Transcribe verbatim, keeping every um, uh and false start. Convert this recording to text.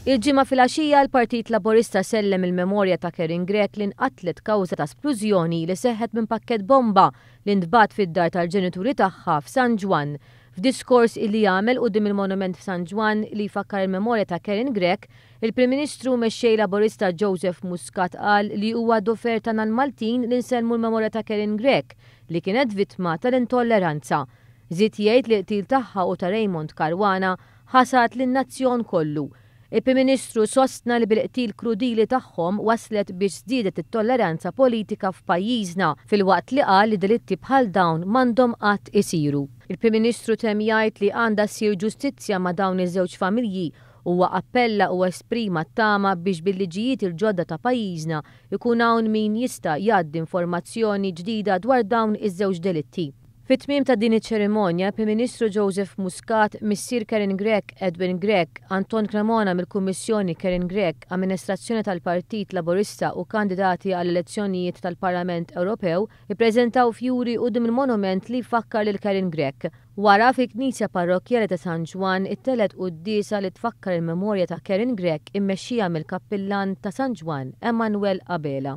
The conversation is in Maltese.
Il-Ġimgħa filgħaxija l-Partit Laburista sellem il-memorja ta' Karin Grech li nqatlet kawża ta' splużjoni li seħħet minn pakkett bomba li ntbagħat fid-dar tal-ġenituri tagħha f'San Ġwann. F'diskors illi għamel quddiem il-monument f'San Ġwann li jfakkar il-memorja ta' Karin Grech, il-Prim Ministru Mexxej Laburista Joseph Muscat qal li huwa dover tagħna l-Maltin li nsellmu l-memorja ta' Karin Grech li kienet vittma tal-intolleranza. Żied jgħid li l-qtil tagħha u ta' Raymond Caruana ħasad lin-nazzjon kollu. Il-Prim Ministru sostna li bil-qtil krudili tagħhom waslet biex żdiedet it-tolleranza politika f'pajjiżna filwaqt li qal li delitti bħal dawn m'għandhom qatt isiru. Il-Prim Ministru temm jgħid li għandha ssir ġustizzja ma' dawn iż-żewġ familji. Huwa appella u esprima t-tama biex bil-liġijiet il-ġodda ta' pajjiżna ikun hawn min jista' jgħaddi informazzjoni ġdida dwar dawn iż-żewġ delitti. Fit-tmiem ta' din iċ-ċerimonja, Prim Ministru Joseph Muscat, missier Karin Grech, Edwin Grech, Anton Cremona mill-Kummissjoni Karin Grech, Amministrazzjoni tal-Partit Laburista u kandidati għall-elezzjonijiet tal-Parlament Ewropew ippreżentaw fjuri quddiem il-monument li jfakkar lil Karin Grech. Wara fil-Knisja Parrokkjali ta' San Ġwann ittellgħet quddiesa li tfakkar il-memorja ta' Karin Grech immexxija mill-Kappillan ta' San Ġwann Emanuel Abela.